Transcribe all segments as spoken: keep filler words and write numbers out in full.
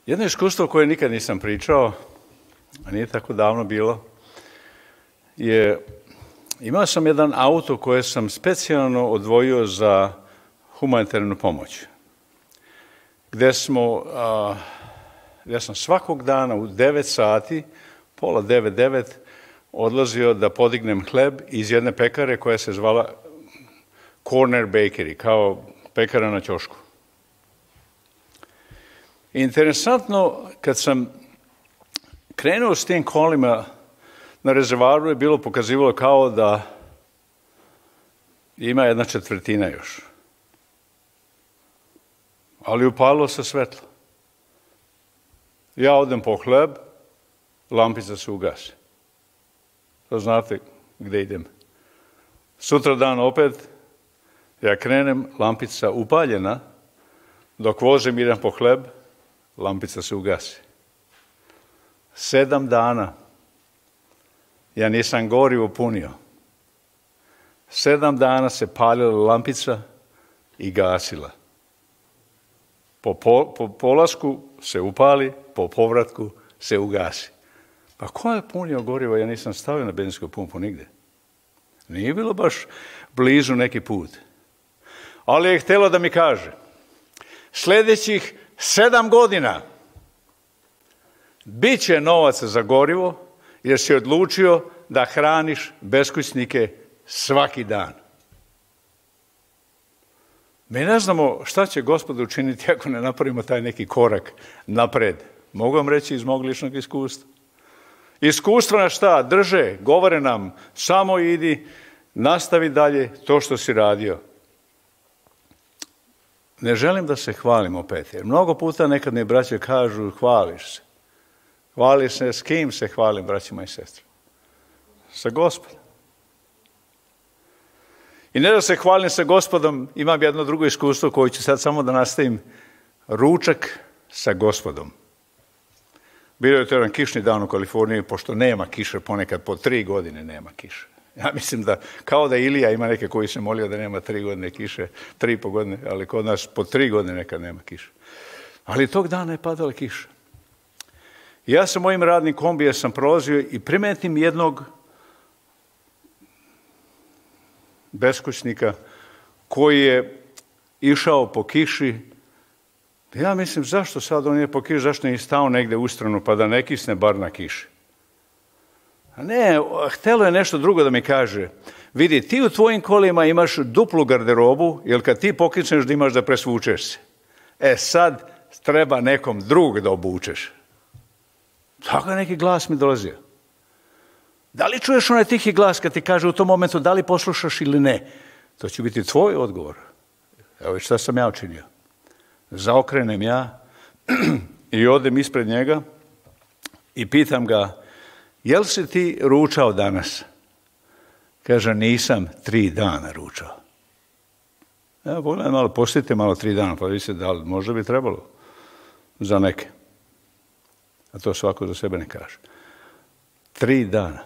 Jedno iskustvo koje nikad nisam pričao, a nije tako davno bilo, je imao sam jedan auto koje sam specijalno odvojio za humanitarnu pomoć, gde smo, a, gde sam svakog dana u devet sati, pola devet, devet, odlazio da podignem hleb iz jedne pekare koja se zvala Corner Bakery, kao pekara na ćošku. Interesantno, kad sam krenuo s tim kolima na rezervaru, je bilo pokazivalo kao da ima jedna četvrtina još. Ali upalilo se svetlo. Ja odem po hleb, lampica se ugasi. To znate gde idem. Sutra dan opet, ja krenem, lampica upaljena, dok vozim idem po hleb, lampica se ugasi. Sedam dana ja nisam gorivo punio. Sedam dana se palila lampica i gasila. Po, po, po polasku se upali, po povratku se ugasi. Pa ko je punio gorivo? Ja nisam stavio na benzinsku pumpu nigde. Nije bilo baš blizu neki put. Ali je htjelo da mi kaže, sljedećih sedam godina bit će novaca za gorivo, jer si odlučio da hraniš beskućnike svaki dan. Mi ne znamo šta će Gospod učiniti ako ne napravimo taj neki korak napred. Mogu vam reći iz mog ličnog iskustva. Iskustva na šta? Drže, govore nam, samo idi, nastavi dalje to što si radio. Ne želim da se hvalim opet, jer mnogo puta nekad mi braće kažu, hvališ se. Hvališ se, s kim se hvalim, braćima i sestre? Sa Gospodom. I ne da se hvalim sa Gospodom, imam jedno drugo iskustvo koje ću sad samo da nastavim. Ručak sa Gospodom. Bilo je to jedan kišni dan u Kaliforniji, pošto nema kiše, ponekad po tri godine nema kiše. Ja mislim da, kao da Ilija ima neke koji se molio da nema tri godine kiše, tri i po godine, ali kod nas po tri godine nekad nema kiše. Ali tog dana je padala kiša. Ja sa mojim radnim kombijem sam prolazio i primetim jednog beskućnika koji je išao po kiši. Ja mislim, zašto sad on je po kiši, zašto nije stao negde u stranu pa da ne kisne bar na kiši? A ne, htelo je nešto drugo da mi kaže. Vidi, ti u tvojim kolima imaš duplu garderobu, jer kad ti pokisneš da imaš da presvučeš se. E sad treba nekom drugog da obučeš. Tako je neki glas mi dolazio. Da li čuješ onaj tihi glas kad ti kaže u tom momentu da li poslušaš ili ne? To će biti tvoj odgovor. Evo šta sam ja učinio. Zaokrenem ja i odem ispred njega i pitam ga, jel si ti ručao danas? Kaže, nisam tri dana ručao. Evo, pogledaj malo, postite malo tri dana, pa vidite da li možda bi trebalo za neke. A to svako za sebe ne kaže. Tri dana.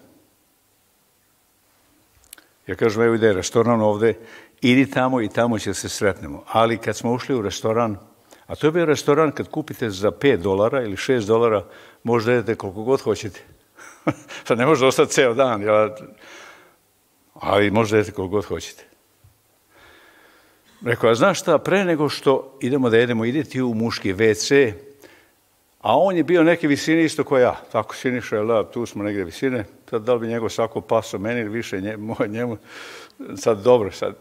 Ja kažem, evo ide restoran ovde, idi tamo i tamo će se sretnemo. Ali kad smo ušli u restoran, a to je bio restoran kad kupite za pet dolara ili šest dolara, možda jedete koliko god hoćete. Sad ne može ostati ceo dan, ali možda jedete koliko god hoćete. Rekao, a znaš šta, pre nego što idemo da jedemo, ide ti u muški ve ce, a on je bio neke visine isto kao ja. Tako Siniša je lab, tu smo negde visine. Sad da li bi njegov sako paso meni ili više njemu, njemu. Sad dobro, sad.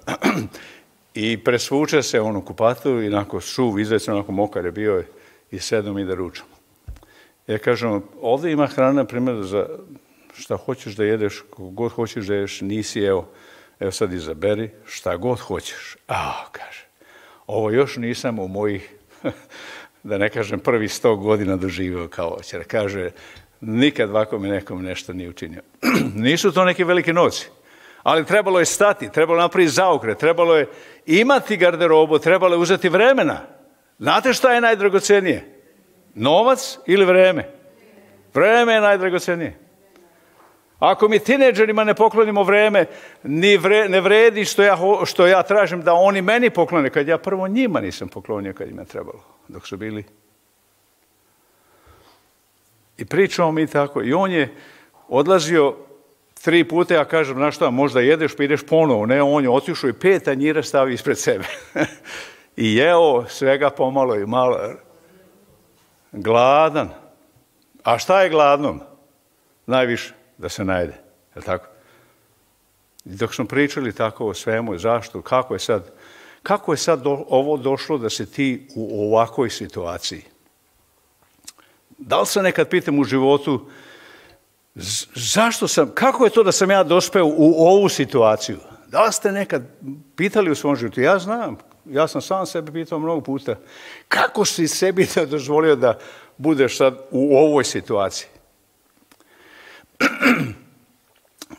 I presvuče se on u kupatu i onako suv, izvecno, onako mokar je bio i sedom i da ručamo. Ja kažem, ovdje ima hrana, primjer, za šta hoćeš da jedeš, kako god hoćeš da jedeš, nisi, evo, evo sad izaberi šta god hoćeš. A, kaže, ovo još nisam u mojih, da ne kažem, prvi sto godina doživio kao oćer. Kaže, nikad ovako mi nekom nešto nije učinio. Nisu to neki veliki novci, ali trebalo je stati, trebalo napraviti zaokret, trebalo je imati garderobu, trebalo je uzeti vremena. Znate šta je najdragocenije? Novac ili vreme? Vreme je najdragocenije. Ako mi tineđerima ne poklonimo vreme, ni vre, ne vredi što ja, što ja tražim da oni meni poklone, kad ja prvo njima nisam poklonio kad im je trebalo, dok su bili. I pričamo mi tako. I on je odlazio tri puta, ja kažem, znaš šta, možda jedeš pa ideš ponovo. Ne, on je otišao i pet tanjira stavio ispred sebe. I jeo svega pomalo i malo. Gladan. A šta je gladnom? Najviše, da se najede. Je li tako? I dok smo pričali tako o svemu, zašto, kako je sad, kako je sad do, ovo došlo da se ti u ovakvoj situaciji? Da li se nekad pitam u životu, zašto sam, kako je to da sam ja dospeo u ovu situaciju? Da li ste nekad pitali u svom životu? Ja znam, ja sam sam sebe pitao mnogo puta. Kako si sebi da dozvolio da budeš sad u ovoj situaciji?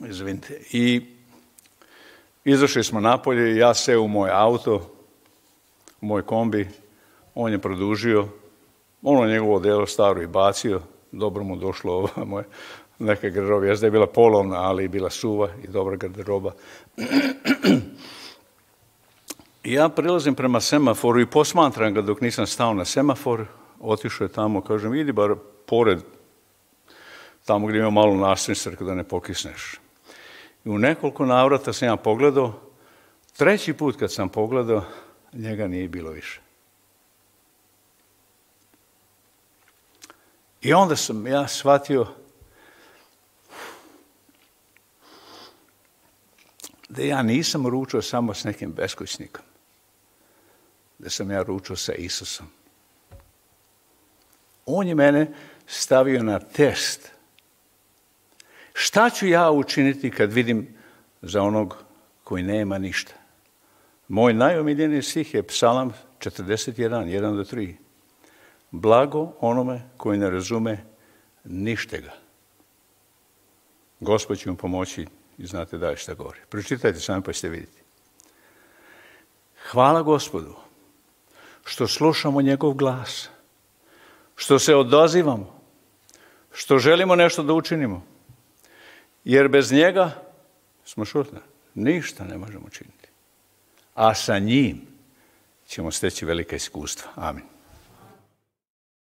Izvinite. I izašli smo napolje, ja seo u moj auto, u moj kombi, on je produžio, ono njegovo delo staro i bacio, dobro mu došlo ovo moje neke garderobe, jezda je bila polovna, ali je bila suva i dobra garderoba. I ja prilazim prema semaforu i posmatram ga dok nisam stao na semafor, otišao je tamo, kažem, idi bar pored, tamo gdje ima malo nastrnice da ne pokisneš. I u nekoliko navrata sam ja pogledao, treći put kad sam pogledao, njega nije bilo više. I onda sam ja shvatio da ja nisam ručao samo s nekim beskućnikom, da sam ja ručao sa Isusom. On je mene stavio na test. Šta ću ja učiniti kad vidim za onog koji nema ništa? Moj najomiljeniji stih je Psalam četrdeset jedan, jedan do tri. Blago onome koji ne razume ništega. Gospod će mu pomoći i znate dalje šta govori. Pročitajte sami pa ćete vidjeti. Hvala Gospodu što slušamo njegov glas, što se odazivamo, što želimo nešto da učinimo. Jer bez njega smo šutni. Ništa ne možemo činiti. A sa njim ćemo steći velika iskustva. Amin.